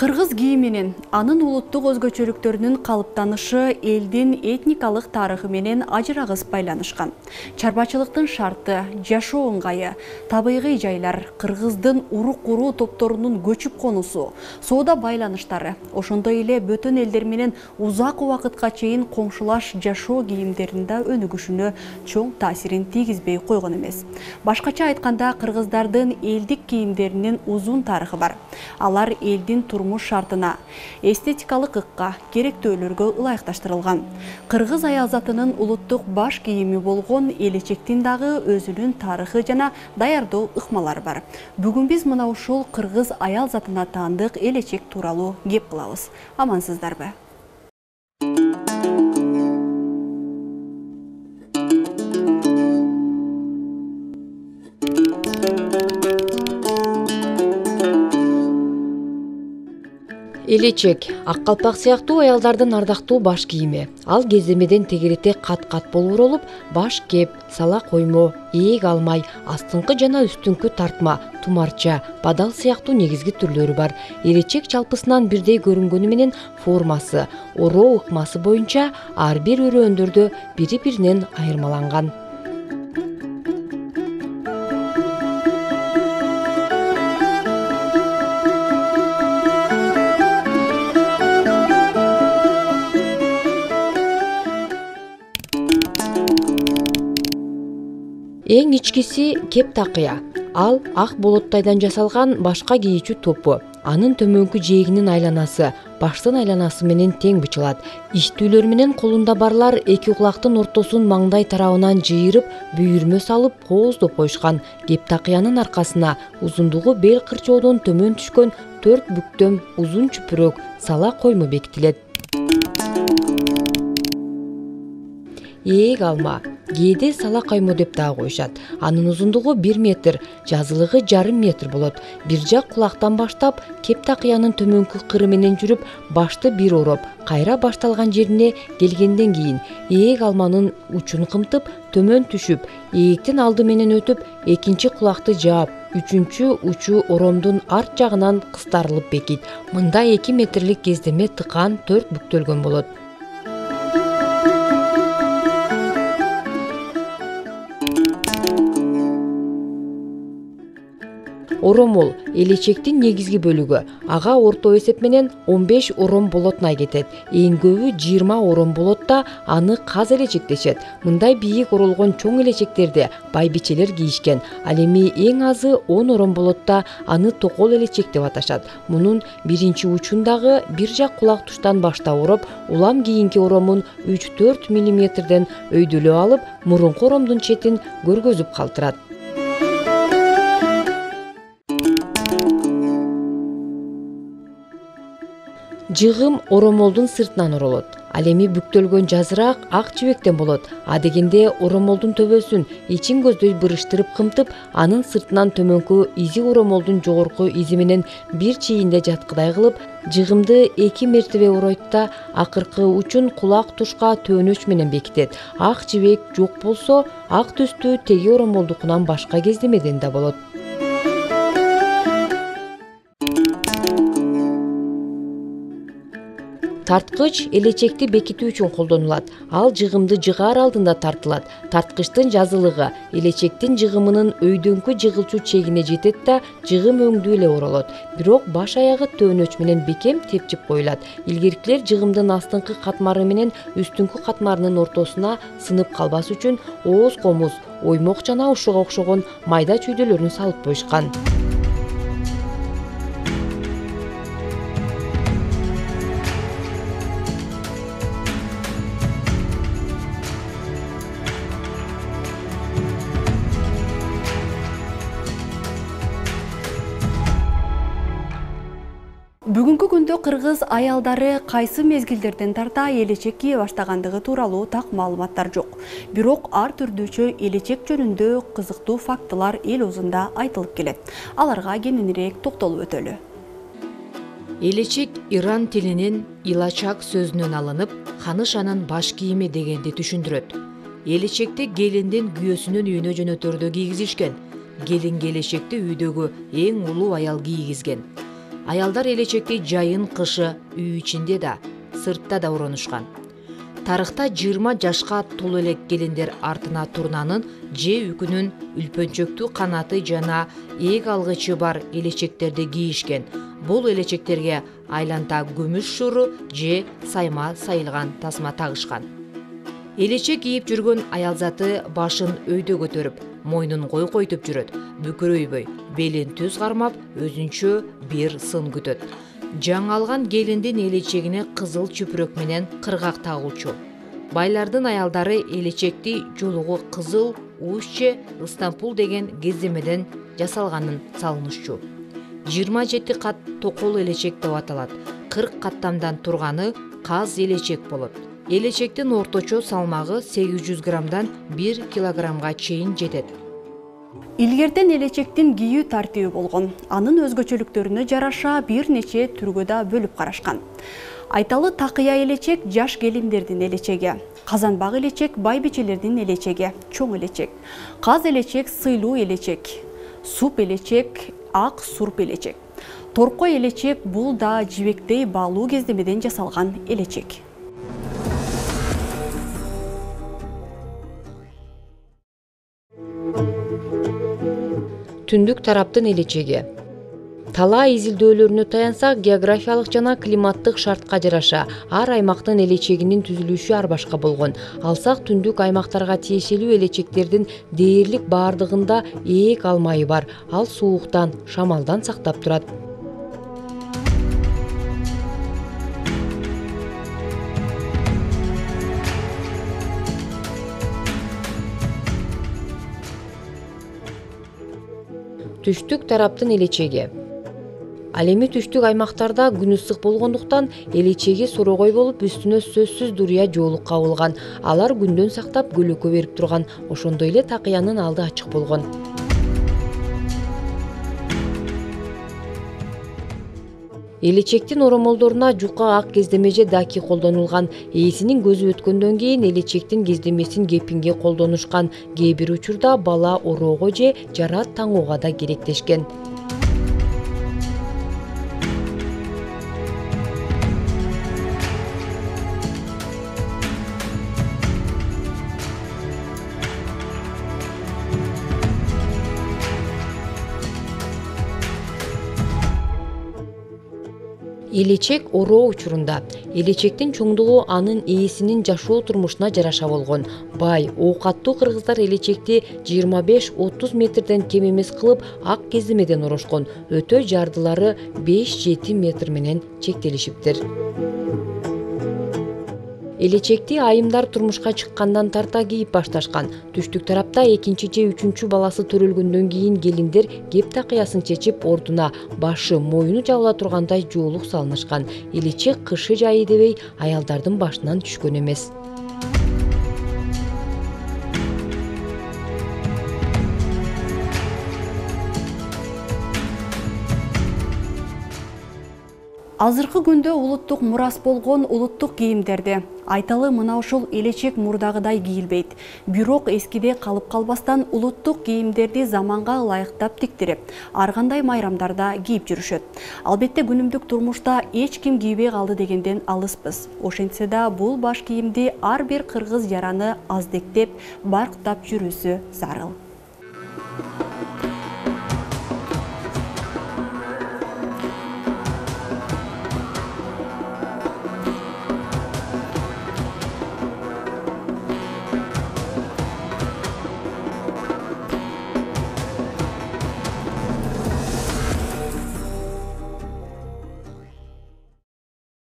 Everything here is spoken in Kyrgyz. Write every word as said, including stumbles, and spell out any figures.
Кыргыз кийиминин, анын улуттук өзгөчөлүктөрүнүн калыптанышы элдин этникалык тарыхы менен ажырагыс байланышкан. Чарбачылыктын шарты, жашоо ыңгайы, табигый жайлар, кыргыздын урук-уруу топторунун көчүп конусу, соода байланыштары, ошондой эле бөтөн элдер менен узак убакытка чейин коңшулаш жашоо кийимдеринде өнүгүшүнө чоң таасирин тийгизбей койгон эмес. Башкача айтканда, кыргыздардын элдик кийимдеринин узун тарыхы бар. Алар элдин турмуш шартына, эстетикалык ыкка, керектөөлөргө ылайыкташтырылган. Кыргыз аял затынын улуттук баш кийими болгон элечектин дагы өзүнүн тарыхы жана даярдоо ыкмалары бар. Бүгүн биз мына ушул кыргыз аял затына таандык элечек тууралуу кеп кылабыз. Амансыздарбы? Элечек ак калпак сыяктуу аялдардын ардактуу баш кийими. Ал кеземеден тегерете кат-кат болууролуп, баш кеп, сала коймо, ээк алмай, астыңкы жана үстүңкү тартма, тумарча, бадал сыяктуу негизги түрлөрү бар. Элечек жалпысынан бирдей көрүнгөнү менен формасы, ороо ыкмасы боюнча ар бир өрөөндөрдө бири-биринен айырмаланган. Эң ичкиси кеп такыя. Ал ак болоттайдан жасалган башка кийүүчү топу. Анын төмөнкү жээгинин айланасы баштын айланасы менен тең бычылат. Иштүүлөр менен колунда барлар эки кулактын ортосун маңдай тарабынан жыйырып, бүйүрмө салып кооздоп коюшкан. Кеп такыянын аркасына узундугу бел кырчоодон төмөн түшкөн төрт бүктөм узун чүпүрөк сала коймо бекитилет. Ээк алма, кээде сала коймо деп дагы коюшат. Анын узундугу бир метр, жазылыгы жарым метр болот. Бир жак кулактан баштап, кеп такыянын төмөнкү кыры менен жүрүп, башты бир ороп, кайра башталган жерине келгенден кийин ээк алманын учун кымтып, төмөн түшүп, ээктин алды менен өтүп, экинчи кулакты жаап, үчүнчү учу оромдун арт жагынан кыстарылып бекит. Мында эки метрлик кездеме тыкан төрт бүктөлгөн болот. Оромол элечектин негизги бөлүгү. Ага орто эсеп менен он беш ором болотуна кетет. Эң көбү жыйырма ором болот да аны каз элечек дешет. Мындай бийик оролгон чоң элечектерди байбичелер кийишкен. Ал эми эң азы он ором болот да аны токол элечек деп аташат. Мунун биринчи учундагы бир жак кулак туштан баштап ороп, улам кийинки оромун үч төрт миллиметрден өйдөлөп алып, мурунку оромдун четин көргөзүп калтырат. Жыгым оромолдун сыртынан оролот. Ал эми бүктөлгөн жазыраак ак жибектен болот. А дегенде оромолдун төбөсүн ичин көздөй бырыштырып кымтып, анын сыртынан төмөнкү изи оромолдун жогорку изи менен бир чийинде жаткыдай кылып, жыгымды эки мертебе оройт да, акыркы учун кулак тушка төөнөч менен бекитет. Ак жибек жок болсо, ак түстүү теги оромолдукунан башка кездемеден да болот. Тарткыч элечекти бекитүү үчүн колдонулат. Ал жыгымды жыгаар алдында тартылат. Тарткычтын жазылыгы элечектин жыгымынын өйдөңкү жыгылчу чегине жетет да, жыгым өңдүү эле оролот. Бирок баш аягы төөнөч менен бекем тепчип коюлат. Илгеркилер жыгымдын астыңкы катмары менен үстүңкү катмарынын ортосуна сынып калбас үчүн ооз комуз, оймок жана ушуга окшогон майда чүйдөлөрүн салып коюшкан. Бүгүнкү күндө кыргыз аялдары кайсы мезгилдерден тарта элечек кие баштагандыгы тууралуу так маалыматтар жок. Бирок ар түрдүүчө элечек жөнүндө кызыктуу фактылар эл оозунда айтылып келет. Аларга кененирээк токтолуп өтөлү. Элечек иран тилинин илачак сөзүнөн алынып, ханышанын баш кийими дегенди түшүндүрөт. Элечекти келиндин күйөөсүнүн үйүнө жөнөтөрдө кийгизишкен. Келин келечекти үйдөгү эң улуу аял кийгизген. Аялдар элечекти жайын, кышы үй ичинде да, сыртта да уронушкан. Тарыхта жыйырма жашка толо элек келиндер артына турнанын же үкүнүн үлпөнчөктүү канаты жана ээг алгычы бар элечектерди кийишкен. Бул элечектерге айланта күмүш шуру же сайма сайылган тасма тагышкан. Элечек кийип жүргөн аял заты башын өйдө көтөрүп, мойнун койкойтуп жүрөт, бүкүрөйбөй, белин түз кармап, өзүнчө бир сын күтөт. Жаңы алган келиндин элечегине кызыл чүпүрөк менен кыргак тагылчу. Байлардын аялдары элечекти жолугу кызыл, уус же ыстампул деген кездемеден жасалганын салынышчу. жыйырма жети кат токол элечек деп аталат. кырк каттамдан турганы каз элечек болот. Элечектин орточо салмагы сегиз жүз граммдан бир килограммга чейин жетет. Илгертен элечектин кийүү тартиби болгон. Анын өзгөчөлүктөрүнө жараша бир нече түргө да бөлүп карашкан. Айталы такыя элечек жаш келиндердин элечеги, казанбак элечек байбичелердин элечеги, чоң элечек, каз элечек сыйлуу элечек, суп элечек, ак сурп элечек. Торкой элечек бул да жибектей баалуу кездемеден жасалган элечек. Түндүк тараптын элечеги. Талаа изилдөөлөрүнө таянсак, географиялык жана климаттык шартка жараша ар аймактын элечегинин түзүлүшү ар башка болгон. Алсак түндүк аймактарга тиешелүү элечектердин дээрлик баардыгында ээг алмайы бар. Ал сууктан, шамалдан сактап турат. Түштүк тараптын элечеги. Ал эми түштүк аймактарда күн ысык болгондуктан элечеги сорогой болуп, үстүнө сөзсүз дурия жоолук кабылган. Алар күндөн сактап көлөккө берип турган. Ошондой эле такыянын алды ачык болгон. Элечектин оромолдоруна жука ак кездеме же даки колдонулган. Ээсинин көзү өткөндөн кийин элечектин кездемесин кепинге колдонушкан. Кээ бир учурда бала ороого же жара таңууга да керектешкен. Элечек ороо учурунда элечектин чоңдугу анын ээсинин жашоо турмушуна жараша болгон. Бай, оокаттуу кыргыздар элечекти жыйырма беш отуз метрден кем эмес кылып ак кездемеден орошкон. Өтө жардылары беш жети метр менен чектелишиптир. Элечекти айымдар турмушка чыккандан тарта кийип башташкан. Түштүк тарапта экинчи же үчүнчү баласы төрөлгөндөн кийин келиндер кеп такыясын чечип, ордуна башы, моюну жабыла тургандай жоолук салынышкан. Элечек кышы жайы дебей аялдардын башынан түшкөн эмес. Азыркы күндө улуттук мурас болгон улуттук кийимдерди айталы мына ушул элечек мурдагыдай кийилбейт. Бирок эскиде калып калбастан улуттук кийимдерди заманга ылайыктап тиктирип, ар кандай майрамдарда кийип жүрүшөт. Албетте күнүмдүк турмушта эч ким кийбей калды дегенден алыспыз. Ошентсе да бул баш кийимди ар бир кыргыз жараны аздектеп, барктап жүрүүсү зарыл.